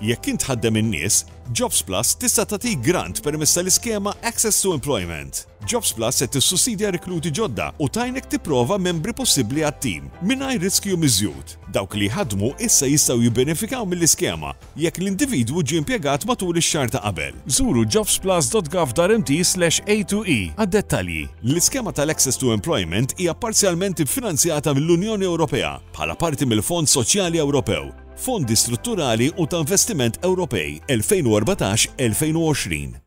Jekk int tħaddem in-nies, Jobsplus tista' tagħtik grant permezz tal-iskema Access to Employment. Jobsplus se tissussidja rekluti ġodda u tgħinek tipprova membri possibbli għat-tim, mingħajr riskju miżjud. Dawk li jħaddmu issa jistgħu jibbenefikaw mill-iskema jekk l-individwu ġie impjegat matul ix-xahar ta' qabel. Żuru jobsplus.gov.mt/a2e għad-dettalji. L-iskema tal-Access to Employment hija parzjalment iffinanzjata mill-Unjoni Ewropea bħala parti mill-Fond Soċjali Ewropew, Fondi Strutturali u ta' Investiment Ewropej 2014-2020.